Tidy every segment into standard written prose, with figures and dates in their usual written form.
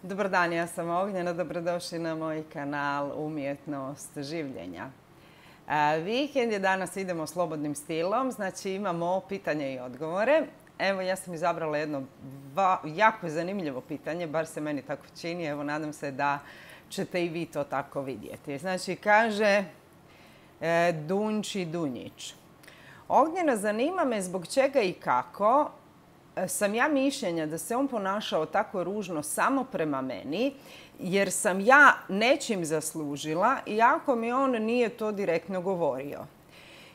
Dobar dan, ja sam Ognjena, dobrodošli na moj kanal Umjetnost življenja. Vikend je, danas idemo slobodnim stilom, znači imamo pitanje i odgovore. Evo, ja sam izabrala jedno jako zanimljivo pitanje, bar se meni tako čini, evo nadam se da ćete i vi to tako vidjeti. Znači, kaže Dunči Dunjić. Ognjena, zanima me zbog čega i kako sam ja mišljenja da se on ponašao tako ružno samo prema meni, jer sam ja nečim zaslužila, iako mi on nije to direktno govorio.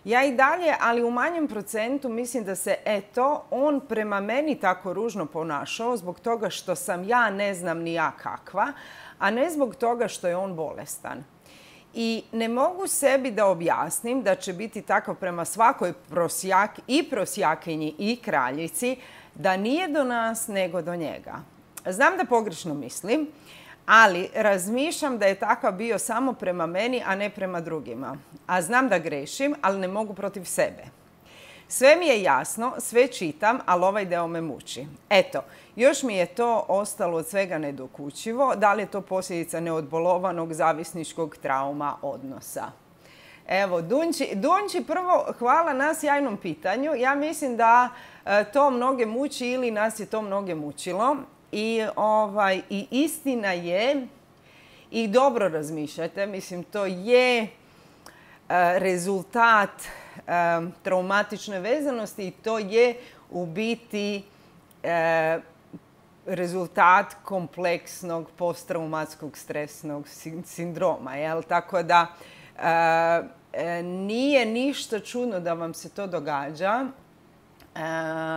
Ja i dalje, ali u manjem procentu, mislim da se, on prema meni tako ružno ponašao zbog toga što sam ja ne znam ni ja kakva, a ne zbog toga što je on bolestan. I ne mogu sebi da objasnim da će biti tako prema svakoj prosjakinji i kraljici, da nije do nas nego do njega. Znam da pogrešno mislim, ali razmišljam da je takav bio samo prema meni, a ne prema drugima. A znam da grešim, ali ne mogu protiv sebe. Sve mi je jasno, sve čitam, ali ovaj deo me muči. Eto, još mi je to ostalo od svega nedokučivo. Da li je to posljedica neodbolovanog zavisničkog trauma odnosa? Evo, Dunči, prvo hvala na sjajnom pitanju. Ja mislim da to mnoge muči ili nas je to mnoge mučilo. I istina je, i dobro razmišljate, mislim, to je rezultat traumatične vezanosti i to je u biti rezultat kompleksnog posttraumatskog stresnog sindroma. Jel? Tako da nije ništa čudno da vam se to događa.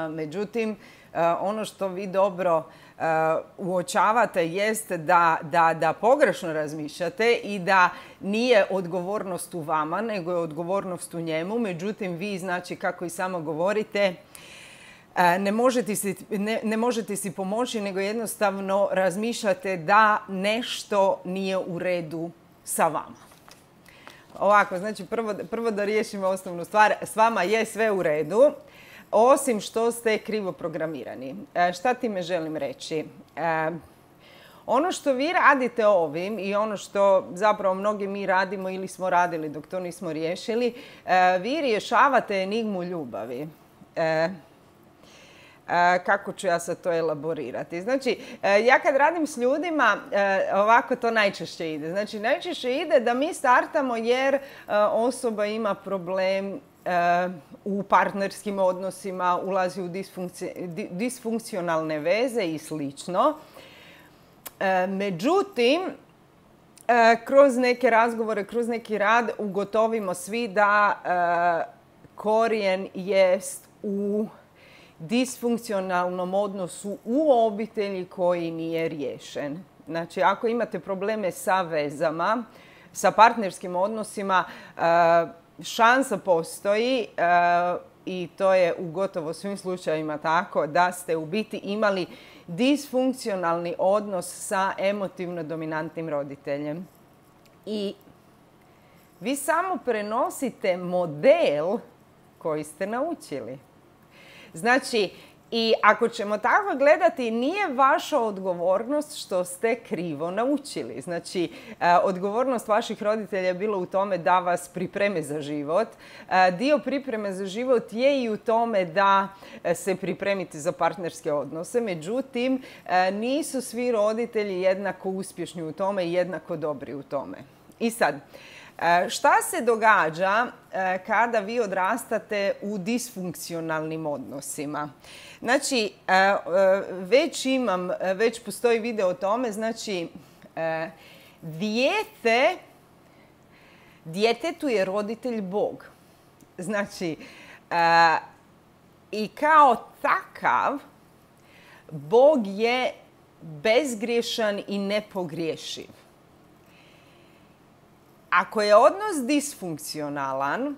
Međutim, ono što vi dobro uočavate jeste da pogrešno razmišljate i da nije odgovornost u vama, nego je odgovornost u njemu. Međutim, vi, znači, kako i samo govorite, ne možete si pomoći, nego jednostavno razmišljate da nešto nije u redu sa vama. Ovako, znači, prvo da riješimo osnovnu stvar. S vama je sve u redu, osim što ste krivo programirani. Šta time želim reći? Ono što vi radite ovim i ono što zapravo mnogi mi radimo ili smo radili dok to nismo riješili, vi rješavate enigmu ljubavi. Kako ću ja sad to elaborirati? Znači, ja kad radim s ljudima, ovako to najčešće ide. Znači, najčešće ide da mi startamo jer osoba ima problem u partnerskim odnosima, ulazi u disfunkcionalne veze i slično. Međutim, kroz neke razgovore, kroz neki rad ugotovimo svi da korijen jest u disfunkcionalnom odnosu u obitelji koji nije riješen. Znači, ako imate probleme sa vezama, sa partnerskim odnosima, šansa postoji i to je u gotovo svim slučajevima tako da ste u biti imali disfunkcionalni odnos sa emotivno dominantnim roditeljem. I vi samo prenosite model koji ste naučili. Znači, i ako ćemo tako gledati, nije vaša odgovornost što ste krivo naučili. Znači, odgovornost vaših roditelja je bila u tome da vas pripreme za život. Dio pripreme za život je i u tome da se pripremite za partnerske odnose. Međutim, nisu svi roditelji jednako uspješni u tome i jednako dobri u tome. I sad, šta se događa kada vi odrastate u disfunkcionalnim odnosima? Znači, već postoji video o tome, znači, djetetu je roditelj Bog. Znači, i kao takav, Bog je bezgriješan i nepogriješiv. Ako je odnos disfunkcionalan,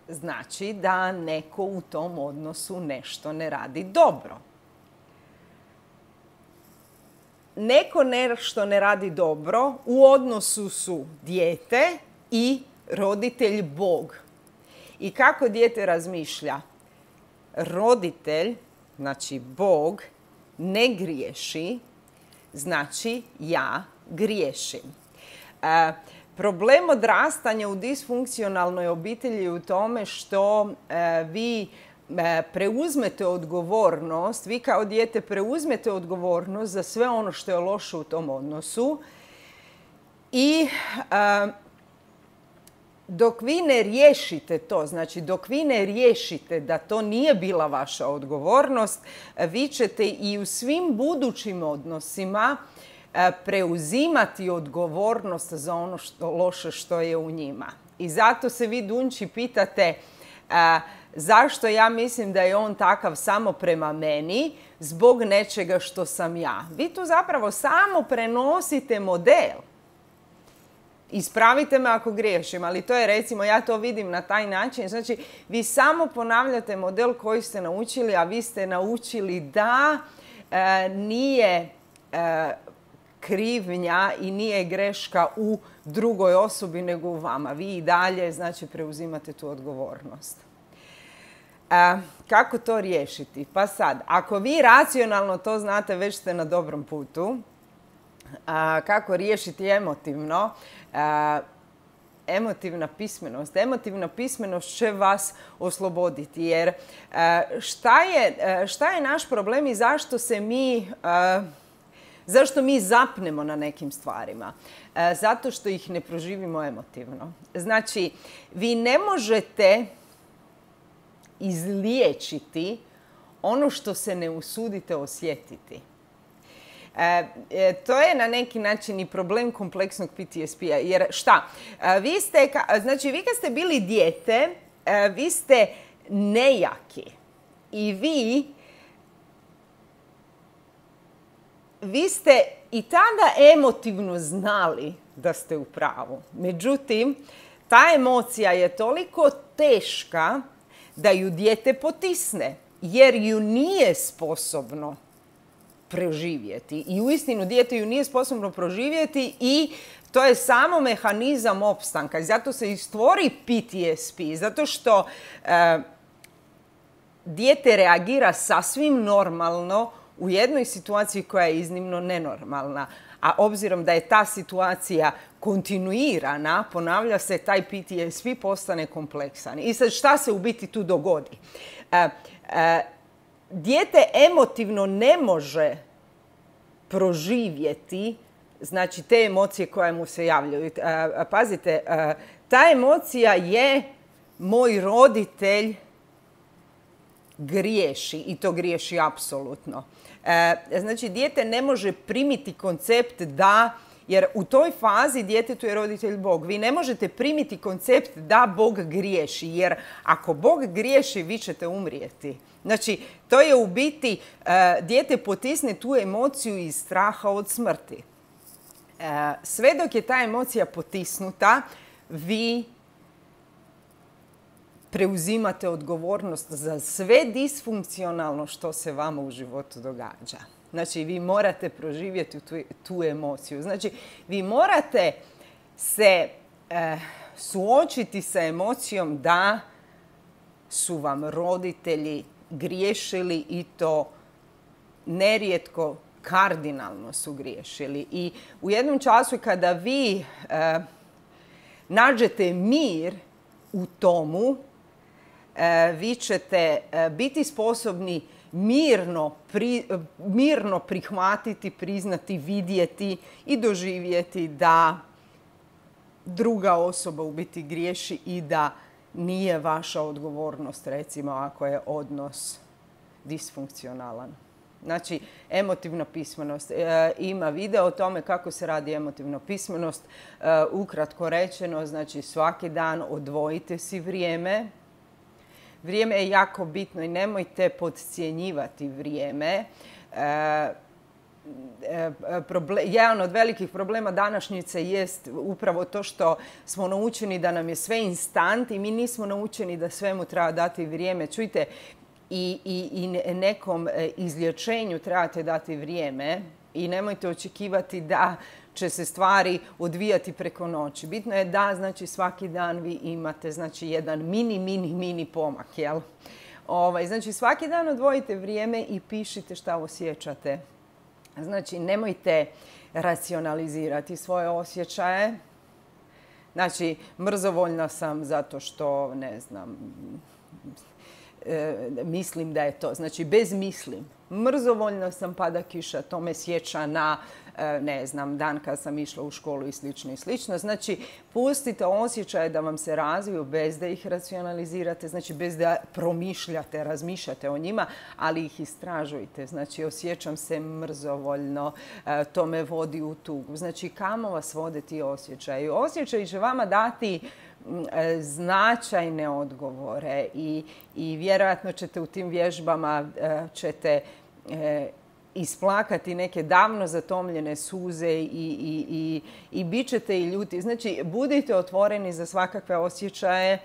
znači da neko u tom odnosu nešto ne radi dobro. Neko nešto ne radi dobro, u odnosu su dijete i roditelj Bog. I kako dijete razmišlja? Roditelj, znači Bog, ne griješi, znači ja griješim. Problem odrastanja u disfunkcionalnoj obitelji je u tome što vi preuzmete odgovornost, vi kao dijete preuzmete odgovornost za sve ono što je loše u tom odnosu i dok vi ne riješite to, znači dok vi ne riješite da to nije bila vaša odgovornost, vi ćete i u svim budućim odnosima preuzimati odgovornost za ono loše što je u njima. I zato se vi, Dunči, pitate zašto ja mislim da je on takav samo prema meni, zbog nečega što sam ja. Vi tu zapravo samo prenosite model. Ispravite me ako griješim, ali to je, recimo, ja to vidim na taj način. Znači, vi samo ponavljate model koji ste naučili, a vi ste naučili da nije krivnja i nije greška u drugoj osobi nego u vama. Vi i dalje, znači, preuzimate tu odgovornost. Kako to riješiti? Pa sad, ako vi racionalno to znate, već ste na dobrom putu. Kako riješiti emotivno? Emotivna pismenost. Emotivna pismenost će vas osloboditi. Jer šta je naš problem i zašto mi zapnemo na nekim stvarima? Zato što ih ne proživimo emotivno. Znači, vi ne možete izliječiti ono što se ne usudite osjetiti. To je na neki način i problem kompleksnog PTSP-a. Jer šta? Vi kad ste bili dijete, vi ste nejaki. I vi ste i tada emotivno znali da ste u pravu. Međutim, ta emocija je toliko teška da ju dijete potisne, jer ju nije sposobno preživjeti. I uistinu dijete ju nije sposobno proživjeti i to je samo mehanizam opstanka. I zato se i stvori PTSP, zato što dijete reagira sasvim normalno u jednoj situaciji koja je iznimno nenormalna. A obzirom da je ta situacija kontinuirana, ponavlja se, taj PTSP postane kompleksan. I sad šta se u biti tu dogodi? Dijete emotivno ne može proživjeti, znači, te emocije koje mu se javljaju. Pazite, ta emocija je moj roditelj griješi i to griješi apsolutno. Znači, dijete ne može primiti koncept da, jer u toj fazi djetetu je roditelj Bog. Vi ne možete primiti koncept da Bog griješi, jer ako Bog griješi, vi ćete umrijeti. Znači, to je u biti, dijete potisne tu emociju iz straha od smrti. Sve dok je ta emocija potisnuta, vi preuzimate odgovornost za sve disfunkcionalno što se vama u životu događa. Znači, vi morate proživjeti tu emociju. Znači, vi morate se suočiti sa emocijom da su vam roditelji griješili i to nerijetko kardinalno su griješili. I u jednom času kada vi nađete mir u tomu, vi ćete biti sposobni mirno prihvatiti, priznati, vidjeti i doživjeti da druga osoba u biti griješi i da nije vaša odgovornost, recimo, ako je odnos disfunkcionalan. Znači, emotivna pismenost. Ima video o tome kako se radi emotivna pismenost. Ukratko rečeno, znači, svaki dan odvojite si vrijeme. Vrijeme je jako bitno i nemojte podcjenjivati vrijeme. Jedan od velikih problema današnjice jest upravo to što smo naučeni da nam je sve instant i mi nismo naučeni da svemu treba dati vrijeme. Čujte, i nekom izlječenju trebate dati vrijeme i nemojte očekivati da će se stvari odvijati preko noći. Bitno je da, znači, svaki dan vi imate, znači, jedan mini pomak, jel? Znači, svaki dan odvojite vrijeme i pišite šta osjećate. Znači, nemojte racionalizirati svoje osjećaje. Znači, mrzovoljna sam zato što, ne znam, mislim da je to. Znači, bez mislim. Mrzovoljna sam, pada kiša, to me sjeća na, ne znam, dan kad sam išla u školu i slično i slično. Znači, pustite osjećaje da vam se razviju bez da ih racionalizirate, znači bez da promišljate, razmišljate o njima, ali ih istražujte. Znači, osjećam se mrzovoljno, to me vodi u tugu. Znači, kamo vas vode ti osjećaji? Osjećaji će vama dati značajne odgovore i vjerojatno ćete u tim vježbama isplakati neke davno zatomljene suze i bit ćete i ljuti. Znači, budite otvoreni za svakakve osjećaje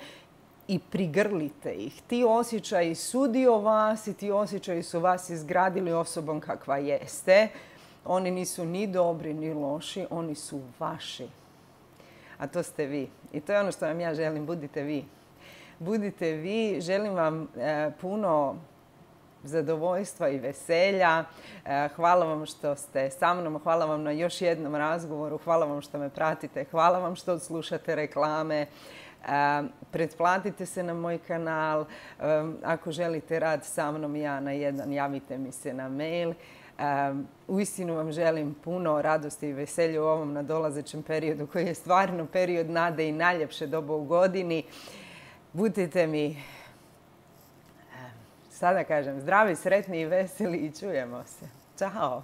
i prigrlite ih. Ti osjećaji su dio vas i ti osjećaji su vas izgradili osobom kakva jeste. Oni nisu ni dobri ni loši, oni su vaši. A to ste vi. I to je ono što vam ja želim. Budite vi. Budite vi. Želim vam puno zadovoljstva i veselja. Hvala vam što ste sa mnom. Hvala vam na još jednom razgovoru. Hvala vam što me pratite. Hvala vam što slušate reklame. Pretplatite se na moj kanal. Ako želite rad sa mnom ja na jedan, javite mi se na mail. Uistinu vam želim puno radosti i veselja u ovom nadolazećem periodu koji je stvarno period nade i najljepše doba u godini. Budite mi, sada kažem, zdravi, sretni i veseli i čujemo se. Ćao!